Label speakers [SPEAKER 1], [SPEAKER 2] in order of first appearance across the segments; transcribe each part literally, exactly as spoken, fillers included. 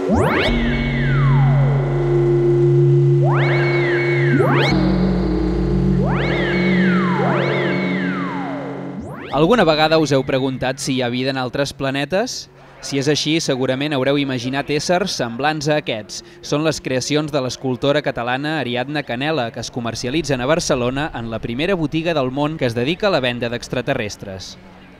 [SPEAKER 1] Alguna vegada us heu preguntat si hi ha vida en altres planetes? Si és així, segurament haureu imaginat éssers semblants a aquests. Són les creacions de l'escultora catalana Ariadna Canela, que es comercialitzen a Barcelona en la primera botiga del món que es dedica a la venda d'extraterrestres.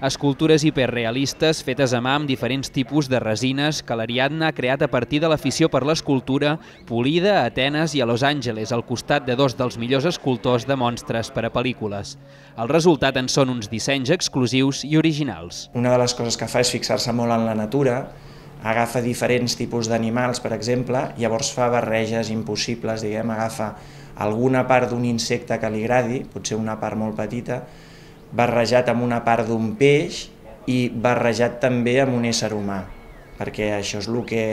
[SPEAKER 1] Escultures hiperrealistes fetes a mà amb diferents tipus de resines que l'Ariadna ha creat a partir de l'afició per l'escultura, polida a Atenes i a Los Angeles, al costat de dos dels millors escultors de monstres per a pel·lícules. El resultat en són uns dissenys exclusius i originals.
[SPEAKER 2] Una de les coses que fa és fixar-se molt en la natura, agafa diferents tipus d'animals, per exemple, llavors fa barreges impossibles, diguem, agafa alguna part d'un insecte que li agradi, potser una part molt petita, barrejat amb una part d'un peix i barrejat també amb un ésser humà, perquè això és el que,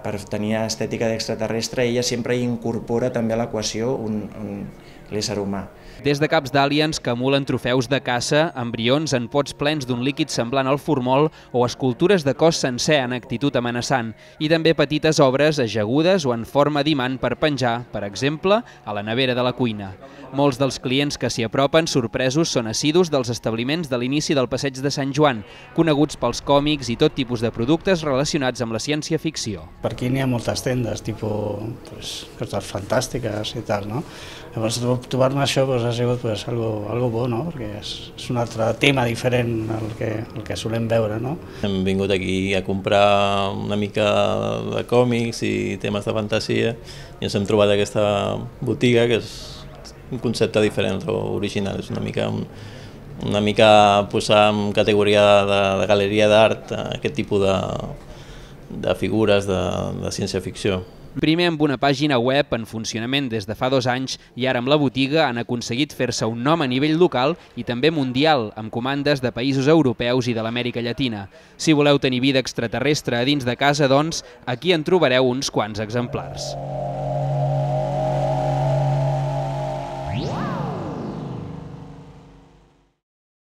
[SPEAKER 2] per tenir estètica d'extraterrestre, ella sempre hi incorpora també a l'equació un, un, l'ésser humà.
[SPEAKER 1] Des de caps d'àliens que emulen trofeus de caça, embrions en pots plens d'un líquid semblant al formol o escultures de cos sencer en actitud amenaçant, i també petites obres ajagudes o en forma d'imant per penjar, per exemple, a la nevera de la cuina. Molts dels clients que s'hi apropen sorpresos són assidus dels establiments de l'inici del Passeig de Sant Joan, coneguts pels còmics i tot tipus de productes relacionats amb la ciència-ficció.
[SPEAKER 3] Per aquí n'hi ha moltes tendes, tipus pues, coses fantàstiques i tal, no? Llavors, trobar-me això pues, ha sigut pues, algo, algo bo, no? Perquè és, és un altre tema diferent al que, al que solem veure, no?
[SPEAKER 4] Hem vingut aquí a comprar una mica de còmics i temes de fantasia i ens hem trobat aquesta botiga que és un concepte diferent o original, és una mica, una mica posar en categoria de, de galeria d'art aquest tipus de, de figures de, de ciència-ficció.
[SPEAKER 1] Primer amb una pàgina web en funcionament des de fa dos anys i ara amb la botiga han aconseguit fer-se un nom a nivell local i també mundial, amb comandes de països europeus i de l'Amèrica Llatina. Si voleu tenir vida extraterrestre a dins de casa, doncs, aquí en trobareu uns quants exemplars.